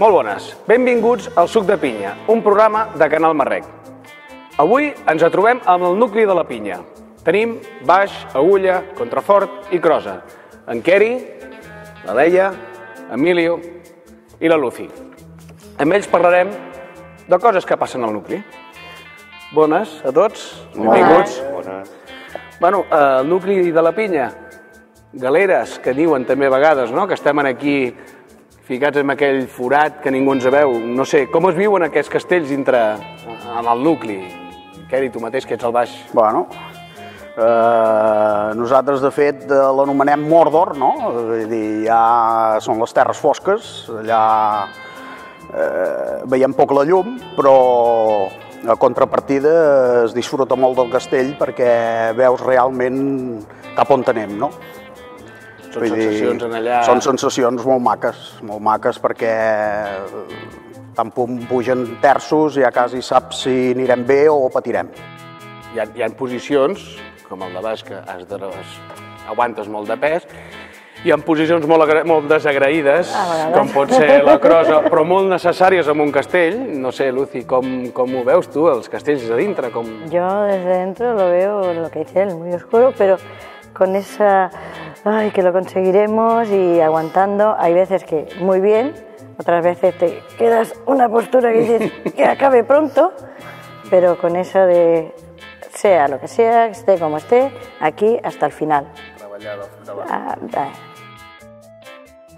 Molt bones, benvinguts al Suc de Pinya, un programa de Canal Marrec. Avui ens trobem amb el nucli de la pinya. Tenim baix, agulla, contrafort i crosa. En Queri, la Leia, Emilio i la Lucy. Amb ells parlarem de coses que passen al nucli. Bones a tots, benvinguts. Bones. Bueno, el nucli de la pinya, galeres, que diuen també a vegades, no?, que estem aquí ficats en aquell forat que ningú ens veu. No sé, com es viuen aquests castells dintre en el nucli? Queri, tu mateix, que ets al baix. Bueno, nosaltres, de fet, l'anomenem Mordor, no? Vull dir, ja són les terres fosques, allà veiem poc la llum, però a contrapartida es disfruta molt del castell perquè veus realment cap on anem, no? Són sensacions en allà... Són sensacions molt maques perquè tant pugen terços ja quasi saps si anirem bé o patirem. Hi ha posicions, com el de baix, que aguantes molt de pes, hi ha posicions molt desagraïdes, com pot ser la crosa, però molt necessàries en un castell. No sé, Lucy, com ho veus tu, els castells de dintre? Yo desde dentro lo veo, lo que dice él, muy oscuro, pero con esa... Ay, que lo conseguiremos y aguantando. Hay veces que muy bien, otras veces te quedas una postura que dices que acabe pronto, pero con eso de sea lo que sea, esté como esté, aquí hasta el final.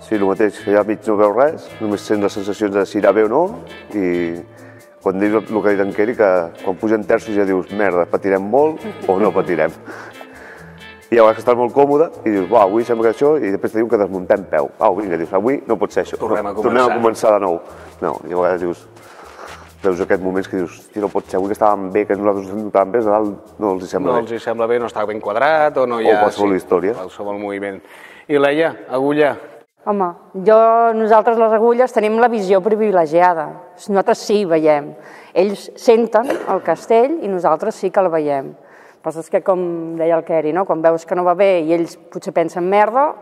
Sí, el mateix, que ja mig no veus res, només sents les sensacions de si irà bé o no, i quan dius el que ha dit en Queri, que quan pugen terços ja dius, merda, patirem molt o no patirem. I a vegades estàs molt còmode i dius, avui sembla que això, i després te diuen que desmuntem peu. Vinga, dius, avui no pot ser això. Tornem a començar de nou. No, i a vegades dius, veus aquests moments que dius, no pot ser, avui que estàvem bé, que nosaltres ens notàvem bé, a dalt no els sembla bé. No els sembla bé, no està ben quadrat o no hi ha... O qualsevol història. Qualsevol moviment. I Leia, agulla? Home, nosaltres les agulles tenim la visió privilegiada. Nosaltres sí veiem. Ells senten el castell i nosaltres sí que el veiem. El que passa és que, com deia el Queri, quan veus que no va bé i ells potser pensen merda,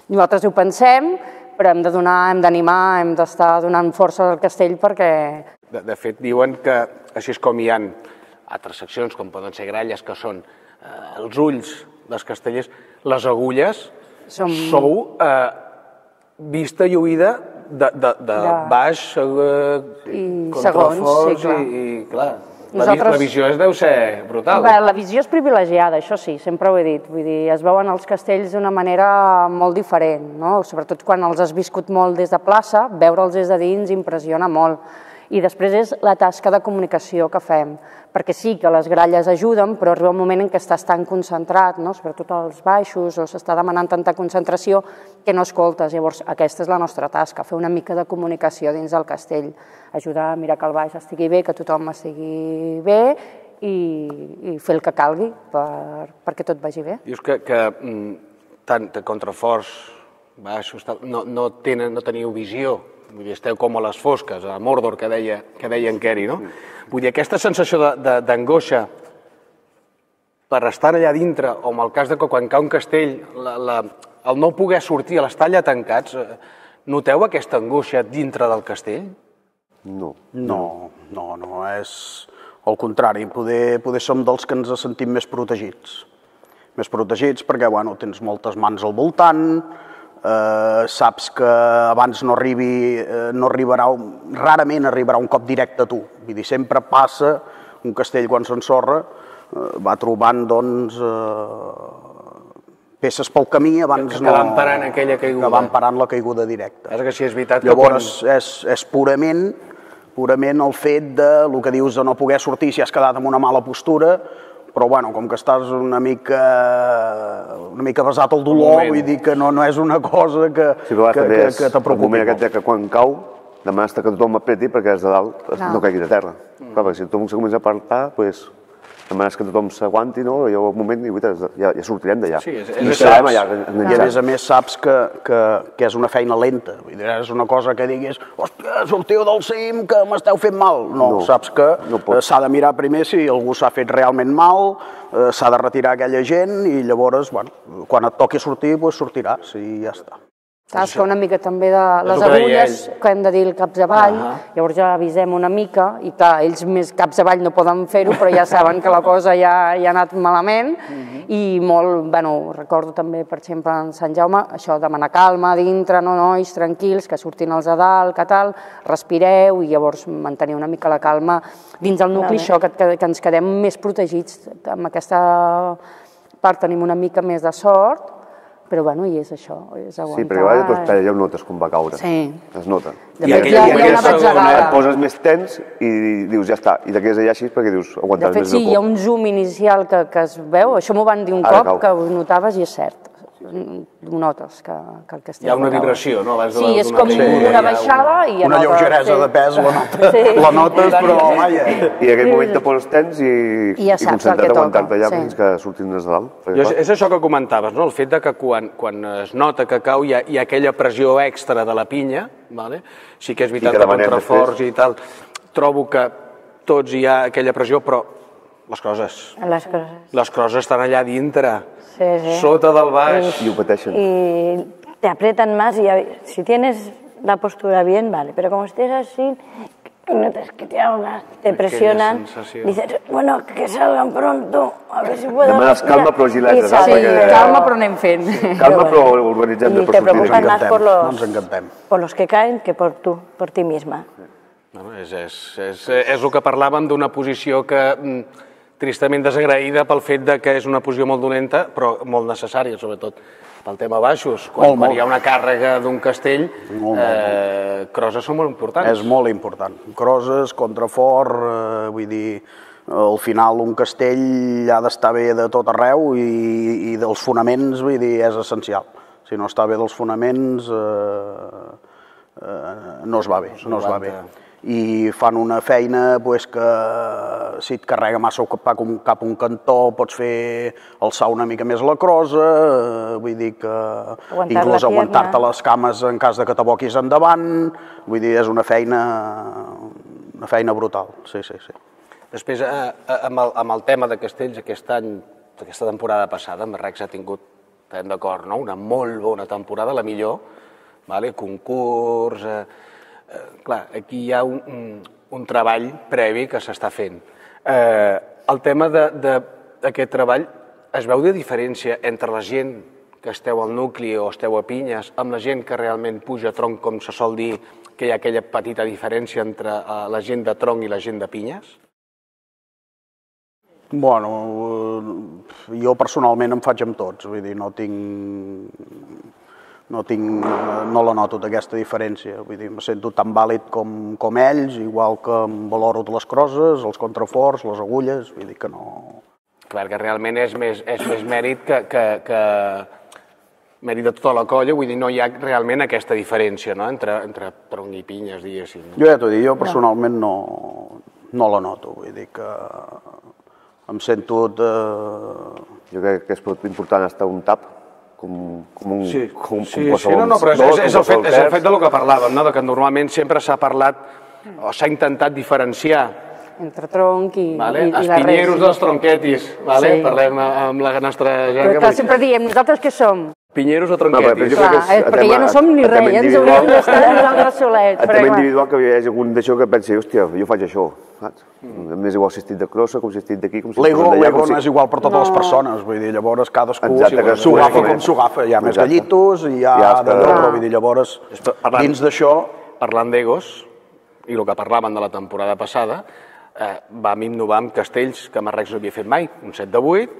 nosaltres ho pensem, però hem de donar, hem d'animar, hem d'estar donant força al castell perquè... De fet, diuen que així és com hi ha altres seccions, com poden ser gralles, que són els ulls dels castellers, les agulles, sou vista i oïda de baix, contraforts i clar... La visió deu ser brutal. La visió és privilegiada, això sí, sempre ho he dit. Vull dir, es veuen els castells d'una manera molt diferent, no? Sobretot quan els has viscut molt des de plaça, veure'ls des de dins impressiona molt. I després és la tasca de comunicació que fem, perquè sí que les gralles ajuden, però arriba un moment en què estàs tan concentrat, sobretot als baixos, o s'està demanant tanta concentració que no escoltes. Llavors, aquesta és la nostra tasca, fer una mica de comunicació dins del castell, ajudar a mirar que el baix estigui bé, que tothom estigui bé i fer el que calgui perquè tot vagi bé. Dius que tant de contraforts, baixos, no teniu visió. Vull dir, esteu com a les fosques, a Mordor, que deia en Queri, no? Vull dir, aquesta sensació d'angoixa per estar allà dintre, o en el cas de que quan cau un castell, el no poder sortir, l'estar allà tancats, noteu aquesta angoixa dintre del castell? No. No, és al contrari, poder som dels que ens sentim més protegits. Més protegits perquè, tens moltes mans al voltant, saps que abans rarament arribarà un cop directe a tu. Vull dir, sempre passa, un castell quan s'ensorra va trobant, peces pel camí abans que van parant aquella caiguda. Que van parant la caiguda directa. És que sí, és veritat que llavors és purament el fet de, el que dius de no poder sortir si has quedat en una mala postura, però com que estàs una mica basat al dolor, vull dir que no és una cosa que te preocupi. El moment aquest que quan cau demanes que tothom apreti perquè des de dalt no caigui de terra. Perquè si tothom se comença a apartar, demanes que tothom s'aguanti, no? I un moment ja sortirem d'allà. I a més saps que és una feina lenta. És una cosa que diguis, hòstia, sortiu del cim, que m'esteu fent mal. No, saps que s'ha de mirar primer si algú s'ha fet realment mal, s'ha de retirar aquella gent i llavors, quan et toqui sortir, sortiràs i ja està. Saps que una mica també de les el que deia agulles que hem de dir el caps avall, llavors ja avisem una mica i clar, ells més caps avall no poden fer-ho, però ja saben que la cosa ja ha anat malament i molt, bueno, recordo també, per exemple, en Sant Jaume, això, demanar calma dintre, no, nois, tranquils, que surtin els a dalt, que tal, respireu i llavors mantenir una mica la calma dins el nucli, això, que ens quedem més protegits. Amb aquesta part tenim una mica més de sort, però bueno, i és això, és aguantar. Sí, perquè a vegades doncs, ja ho notes com va caure. Sí. Es nota. De fet, hi ha una batzegada. Et poses més tens i dius, ja està. I te quedes allà així perquè dius, aguantaràs més de sí, hi ha un zoom inicial que es veu, això m'ho van dir un cop, que ho notaves i és cert. Ho notes, que el castell... Hi ha una vibració, no? Sí, és com una baixada i... Una lleugeresa de pes, la notes, però vaja. I en aquell moment te poses tens i ja saps el que concentrat a toca. aguantar-te allà fins que surtin des de dalt. És això que comentaves, no? El fet de que quan es nota que cau hi ha aquella pressió extra de la pinya, sí que és veritat que contraforts i tal, trobo que tots hi ha aquella pressió, però les crosses estan allà dintre, sota del baix. I ho pateixen. Y te aprietan más y si tienes la postura bien, vale, pero como estés así, notas que te ahogas, te presionan, dices, bueno, que salgan pronto, a ver si puedo... Demanes calma però agilesa. Sí, calma però anem fent. Calma però organitzem-te per sortir. Y te preocupas más Ens por los que caen que por ti misma. És el que parlàvem d'una posició que tristament desagraïda pel fet que és una posició molt dolenta, però molt necessària, sobretot pel tema baixos. Quan hi ha una càrrega d'un castell, crosses són molt importants. És molt important. Crosses, contrafort, vull dir, al final un castell ha d'estar bé de tot arreu i dels fonaments, vull dir, és essencial. Si no està bé dels fonaments, no es va bé, no es va bé. I fan una feina que si et carrega massa cap a un cantó pots fer alçar una mica més la crosa, vull dir que inclús aguantar-te les cames en cas que t'aboquis endavant, vull dir, és una feina brutal, sí. Després, amb el tema de castells, aquest any, aquesta temporada passada, Rex ha tingut, estem d'acord, una molt bona temporada, la millor, concurs... Clar, aquí hi ha un treball previ que s'està fent. El tema d'aquest treball, es veu de diferència entre la gent que esteu al nucli o esteu a pinyes amb la gent que realment puja a tronc, com se sol dir, que hi ha aquella petita diferència entre la gent de tronc i la gent de pinyes? Bueno, jo personalment em faig amb tots, vull dir, no la noto d'aquesta diferència, vull dir, me sento tan vàlid com ells, igual que em valoro de les crosses, els contraforts, les agulles, vull dir que no... Clar, que realment és més mèrit que mèrit de tota la colla, vull dir, no hi ha realment aquesta diferència, no?, entre tronc i pinyes, diguéssim. Jo ja t'ho dic, jo personalment no la noto, vull dir que em sento... Jo crec que és important estar un tap, com qualsevol... No, però és el fet del que parlàvem, que normalment sempre s'ha parlat o s'ha intentat diferenciar entre tronc i la res. Els pinyeros dels tronquetis, parlem amb la nostra gent. Però sempre diem, nosaltres què som? Pinyeros o tronquetis. Perquè ja no som ni res, ja ens hauríem d'estar nosaltres solets. A tema individual que hi hagi algun d'això que pensi, hòstia, jo faig això, saps? M'és igual si estic de crossa, com si estic d'aquí, com si estic d'allà. L'ego no és igual per totes les persones, vull dir, llavors cadascú s'ho agafa com s'ho agafa. Hi ha més gallitos, hi ha d'allò, però vull dir, llavors, dins d'això... Parlant d'egos, i el que parlaven de la temporada passada, vam innovar amb castells que Rex no havia fet mai, un 7 de 8,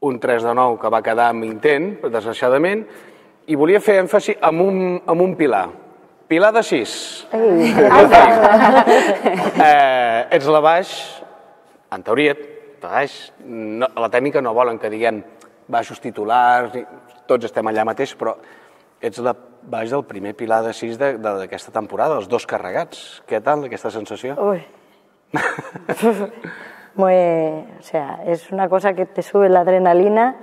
un 3 de 9 que va quedar amb intent, desgraciadament, i volia fer èmfasi en un pilar. Pilar de 6. Ets la baix, en teoria, la tècnica no volen que diguem baixos titulars, tots estem allà mateix, però ets la baix del primer pilar de 6 d'aquesta temporada, els dos carregats. Què tal, aquesta sensació? Uy. O sea, es una cosa que te sube la adrenalina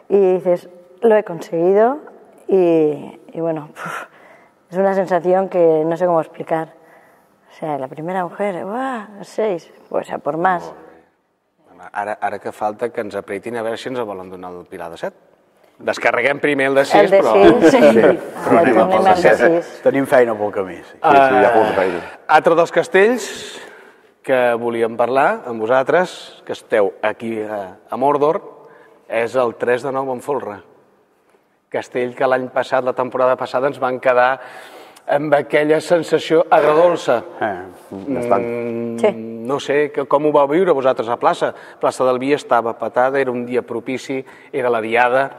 y dices, lo he conseguido y bueno, es una sensación que no sé cómo explicar. O sea, la primera mujer, 6, pues a por más. Ara que falta que ens apretin a veure si ens volen donar el pilar de 7. Descarreguem primer el de 6, El de però... 6, sí. Però anem a Tornem al de 6. Tenim feina pel camí, sí. Sí, hi ha molta feina. Altre dels castells que volíem parlar amb vosaltres, que esteu aquí a Mordor, és el 3 de Nou en Folre. Castell que l'any passat, la temporada passada, ens van quedar amb aquella sensació agradolça. Bastant. Sí. No sé com ho vau viure vosaltres a plaça. Plaça del Vi estava patada, era un dia propici, era la diada.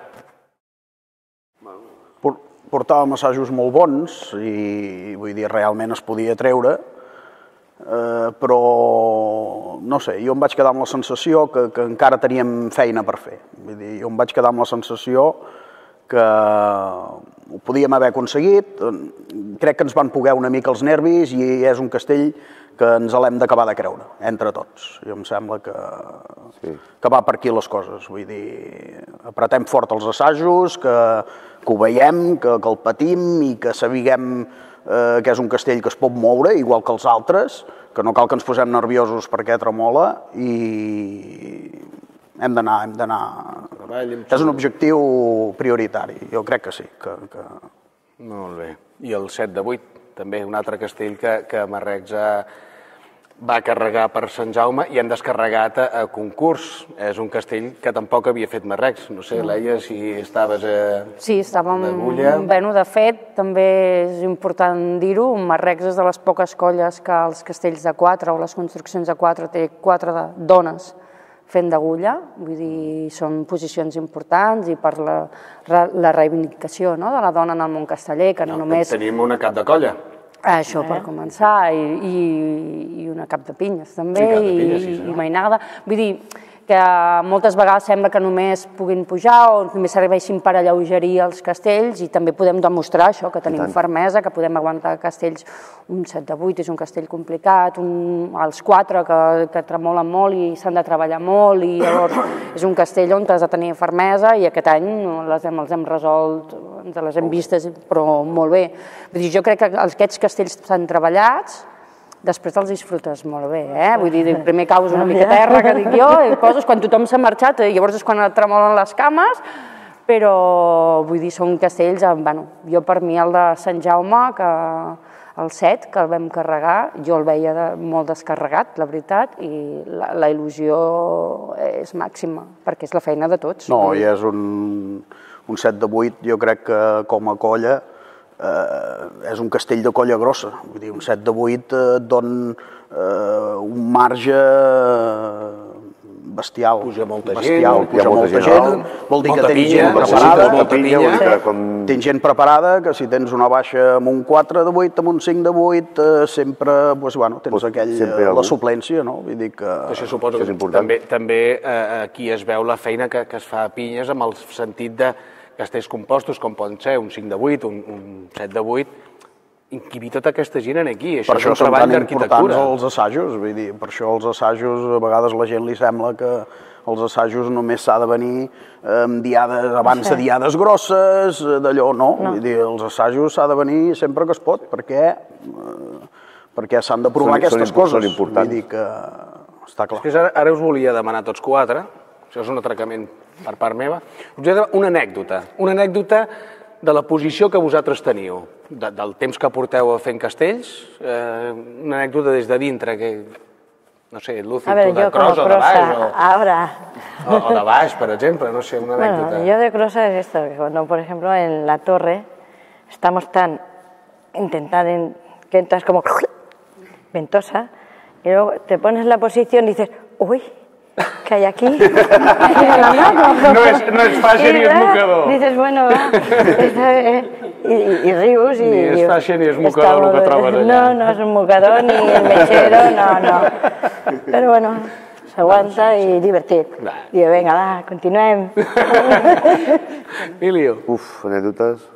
Portàvem assajos molt bons i, vull dir, realment es podia treure, però, no sé, jo em vaig quedar amb la sensació que encara teníem feina per fer. Vull dir, jo em vaig quedar amb la sensació que ho podíem haver aconseguit. Crec que ens van poder una mica els nervis i és un castell que ens l'hem d'acabar de creure, entre tots. Jo em sembla que va per aquí les coses. Vull dir, apretem fort els assajos, que ho veiem, que el patim i que sapiguem que és un castell que es pot moure, igual que els altres, que no cal que ens posem nerviosos perquè tremola i hem d'anar... És un objectiu prioritari, jo crec que sí. Molt bé. I el 7 de 8, també un altre castell que Marrecs va carregar per Sant Jaume i hem descarregat a concurs. És un castell que tampoc havia fet Marrecs. No sé, Leia, si estaves Sí, estàvem... d'agulla. Bueno, de fet, també és important dir-ho, Marrecs és de les poques colles que els castells de 4 o les construccions de 4 té 4 dones fent d'agulla, vull dir, són posicions importants i per la reivindicació de la dona en el món casteller, que no només... Tenim una cap de colla. Això per començar, i una cap de pinyes també, Sí, cap de pinyes, sí, i mainada. Vull dir que moltes vegades sembla que només puguin pujar o només serveixin per alleugerir els castells i també podem demostrar això, que tenim fermesa, que podem aguantar castells. Un 7 de 8 és un castell complicat, els 4 que tremolen molt i s'han de treballar molt i llavors és un castell on has de tenir fermesa i aquest any els hem resolt, ens les hem vistes, però molt bé. Vull dir, jo crec que aquests castells estan treballats, després els disfrutes molt bé, Vull dir, primer caus una mica a terra, que dic jo, i coses, quan tothom s'ha marxat, llavors és quan et tremolen les cames, però, vull dir, són castells, bueno, jo per mi el de Sant Jaume, que el 7, que el vam carregar, jo el veia molt descarregat, la veritat, i la il·lusió és màxima, perquè és la feina de tots. No, i és un 7 de 8, jo crec que com a colla, és un castell de colla grossa. Vull dir, un 7 de 8 et don un marge bestial. Puja molta bestial, gent, puja molta gent. Vol dir que tens gent preparada. Tens gent preparada, que si tens una baixa amb un 4 de 8, amb un 5 de 8, sempre tens la suplència, no? Vull dir que... Això suposo que també aquí es veu la feina que es fa a Pinyes amb el sentit de castells compostos, com poden ser un 5 de 8, un 7 de 8, inquibir tota aquesta gent aquí. Per això són tan importants els assajos, vull dir, per això els assajos, a vegades a la gent li sembla que els assajos només s'ha de venir amb diades, abans de diades grosses, d'allò, no. Vull dir, els assajos s'ha de venir sempre que es pot, perquè s'han de provar aquestes coses. Són importants. Vull dir que està clar. Ara us volia demanar tots 4, això és un atracament per part meva, us volia demanar una anècdota de la posició que vosaltres teniu, del temps que porteu fent castells, una anècdota des de dintre, que, no sé, Lucy, tu de cros o de baix, o de baix, per exemple, no sé, una anécdota. Bueno, yo de crosa es esto, que cuando, por ejemplo, en la torre estamos tan intentando que entras como ventosa y luego te pones en la posición y dices, uy, ¿qué hay aquí? No és fàcil ni és mocador. Dices, bueno, va, y rius. Ni és fàcil ni és mocador el que trobes allà. No és un mocador ni el mechero, no. Però bueno, s'aguanta i divertit. Diu, vinga, va, continuem. Emilio. Anècdotes.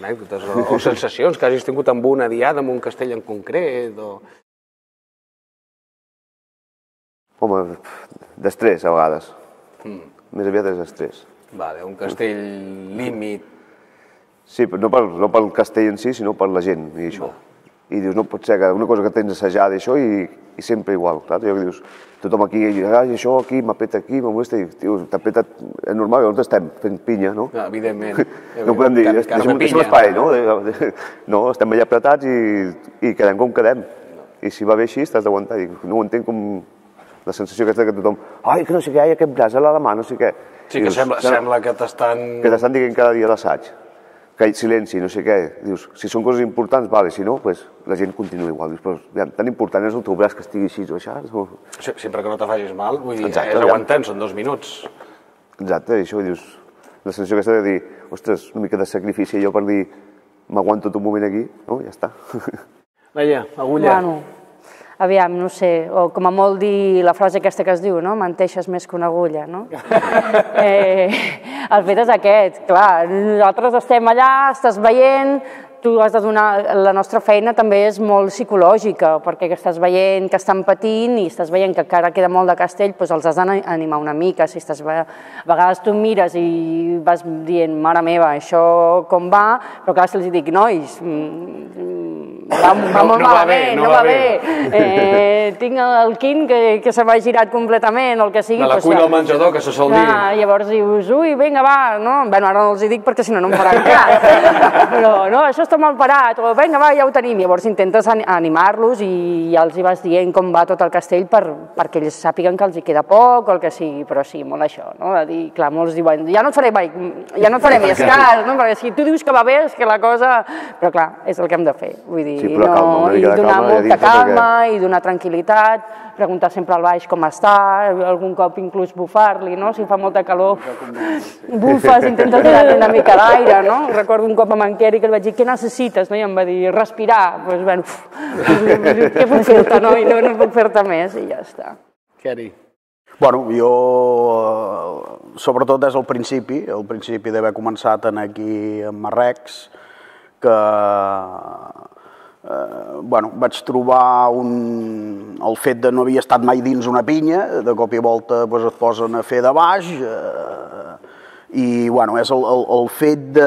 Anècdotes o sensacions que hagis tingut amb una diada, amb un castell en concret, o... Home, d'estrès, a vegades. Més aviat és d'estrès. Vale, un castell límit. Sí, però no pel castell en si, sinó per la gent i això. i dius, no pot ser que una cosa que tens assajada i això, i sempre igual, saps? I dius, tothom aquí, això aquí, m'apeta aquí, m'amolesta, i dius, t'apeta, és normal, llavors estem fent pinya, no? Evidentment. No podem dir, deixem l'espai, no? No, estem allà apretats i quedem com quedem. I si va bé així, t'has d'aguantar. No ho entenc com la sensació aquesta que tothom, ai, que no sé què, aquest braç a la mà, no sé què. Sí, que sembla que t'estan... Que t'estan dient cada dia a l'assaig. Que hi silenci, no sé què. Dius, si són coses importants, vale, si no, la gent continua igual. Dius, però tan important és el teu braç que estigui així o això. Sempre que no te facis mal, vull dir, és aguantant, són 2 minuts. Exacte, i això, dius, la sensació aquesta de dir, ostres, una mica de sacrifici allò per dir, m'aguanto tot un moment aquí, no? Ja està. Laia, agulla. Bueno, aviam, no sé, o com a molt dir la frase aquesta que es diu, no? Menteixes més que una agulla, no? El fet és aquest, clar, nosaltres estem allà, estàs veient, tu has de donar... La nostra feina també és molt psicològica, perquè estàs veient que estan patint i estàs veient que encara queda molt de castell, doncs els has d'animar una mica. Si estàs... A vegades tu mires i vas dient, mare meva, això com va, però clar, si els dic, nois, va molt malament, no va bé, tinc el quin que se m'ha girat completament, o el que sigui. De la cuina al menjador, que se sol dir. Llavors dius, ui, vinga, va, no? Bé, ara no els hi dic perquè si no, no em faran cas. Però, no, això està mal parat, o vinga, va, ja ho tenim. Llavors intentes animar-los i ja els hi vas dient com va tot el castell perquè ells sàpiguen que els hi queda poc o el que sigui, però sí, molt això, no? De dir, clar, molts diuen, ja no et faré més cas, no? Perquè si tu dius que va bé és que la cosa... Però clar, és el que hem de fer, vull dir, i donar molta calma i donar tranquil·litat, preguntar sempre al baix com està, algun cop inclús bufar-li, no? Si fa molta calor, bufes, intentes donar-li una mica d'aire, no? Recordo un cop amb en Keri que li vaig dir, què necessites? I em va dir, respirar. Doncs, bueno, què puc fer-te, no? I no puc fer-te més, i ja està. Keri. Bueno, jo, sobretot des del principi d'haver començat aquí a Marrecs, que vaig trobar el fet de no havia estat mai dins una pinya, de cop i volta et posen a fer de baix, i és el fet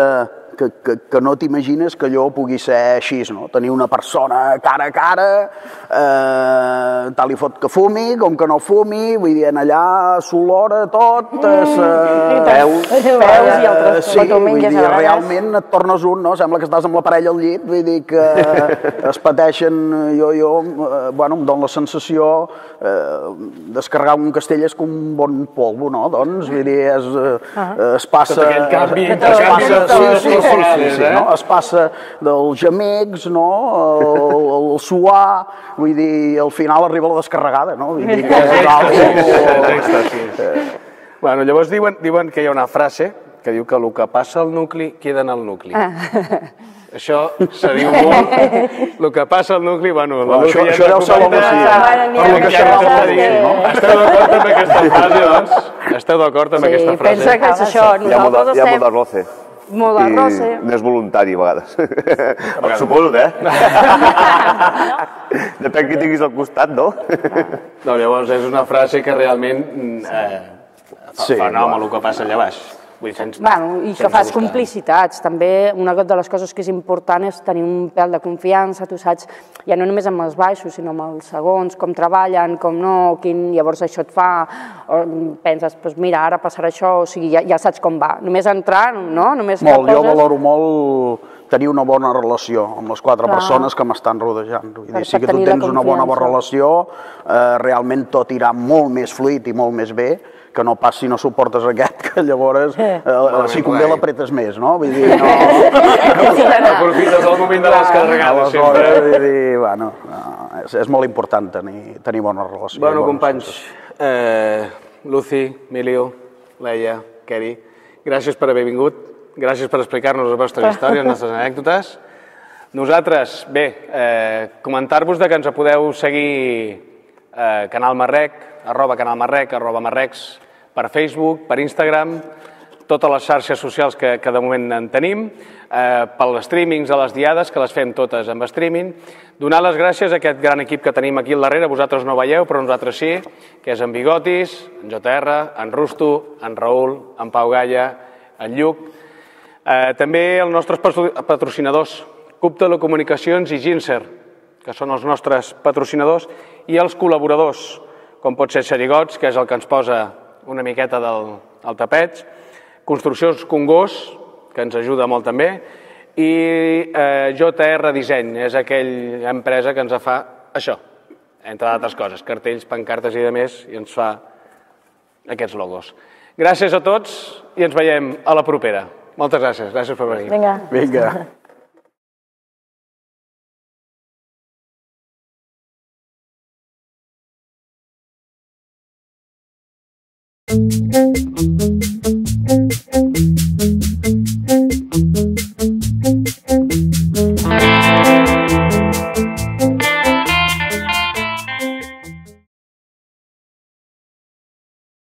que no t'imagines que allò pugui ser així, no? Tenir una persona cara a cara, tal i fot que fumi, com que no fumi, vull dir, allà s'olora tot, peus i altres. Sí, vull dir, realment et tornes un, no? Sembla que estàs amb la parella al llit, vull dir que es pateixen, em dóna la sensació, descarregar un castell és com un bon polvo, no? Doncs, vull dir, es passa... Tot aquell canvi, es passa dels gemecs, el suar, vull dir, al final arriba la descarregada, no? Vull dir que Bueno, llavors diuen que hi ha una frase que diu que el que passa al nucli queda en el nucli. Això se diu molt, el que passa al nucli, això deu ser Esteu d'acord amb aquesta frase, doncs? Esteu d'acord amb aquesta frase? Pensa que és això, nosaltres estem... Hi ha molt de roce. Molt de roce. I no és voluntari, a vegades. Suposo, Depèn qui tinguis al costat, no? No, llavors és una frase que realment fa nom a el que passa allà baix. I que fas complicitats. També una de les coses que és important és tenir un pèl de confiança, tu saps, ja no només amb els baixos, sinó amb els segons, com treballen, com no, llavors això et fa, penses, mira, ara passarà això, o sigui, ja saps com va. Només entrar, no? Jo valoro molt tenir una bona relació amb les 4 persones que m'estan rodejant. Si que tu tens una bona relació, realment tot irà molt més fluid i molt més bé, que no pas si no suportes aquest, que llavors si convé l'apretes més, no? Vull dir, no... Aprofites el moment de les carregades, sempre. És molt important tenir bona relació. Bueno, companys, Lucy, Emilio, Laia, Keri, gràcies per haver vingut, gràcies per explicar-nos les vostres històries, les nostres anècdotes. Nosaltres, bé, comentar-vos que ens podeu seguir Canal Marrec, @canalmarrec, @marrecs, per Facebook, per Instagram, totes les xarxes socials que de moment en tenim, pels streamings a les diades, que les fem totes amb streaming. Donar les gràcies a aquest gran equip que tenim aquí al darrere, vosaltres no veieu, però nosaltres sí, que és en Bigotis, en JR, en Rusto, en Raül, en Pau Galla, en Lluc. També els nostres patrocinadors, CUP Telecomunicacions i Ginser, que són els nostres patrocinadors, i els col·laboradors, com pot ser Xerigots, que és el que ens posa una miqueta del tapet, Construccions Congost, que ens ajuda molt també, i JR Disseny, és aquella empresa que ens fa això, entre d'altres coses, cartells, pancartes i demés, i ens fa aquests logos. Gràcies a tots i ens veiem a la propera. Moltes gràcies per venir. Vinga. Vinga.